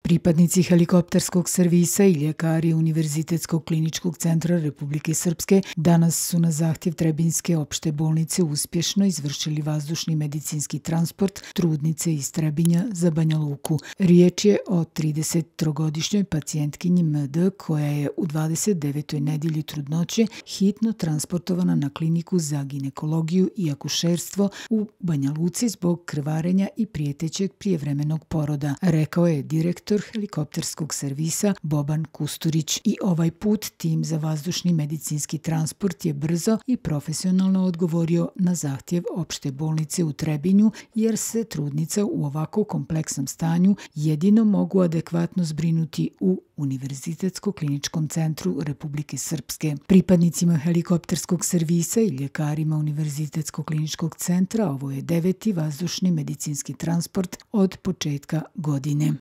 Pripadnici helikopterskog servisa i ljekari Univerzitetskog kliničkog centra Republike Srpske danas su na zahtjev Trebinjske opšte bolnice uspješno izvršili vazdušni medicinski transport trudnice iz Trebinja za Banja Luku. Riječ je o 33-godišnjoj pacijentkinji MD koja je u 29. nedjelji trudnoće hitno transportovana na kliniku za ginekologiju i akušerstvo u Banja Luci zbog krvarenja i prijetećeg prijevremenog poroda, rekao je direktor helikopterskog servisa Boban Kusturić. I ovaj put tim za vazdušni medicinski transport je brzo i profesionalno odgovorio na zahtjev opšte bolnice u Trebinju, jer se trudnica u ovako kompleksnom stanju jedino mogu adekvatno zbrinuti u Univerzitetskom kliničkom centru Republike Srpske. Pripadnicima helikopterskog servisa i ljekarima Univerzitetskog kliničkog centra ovo je 9. vazdušni medicinski transport od početka godine.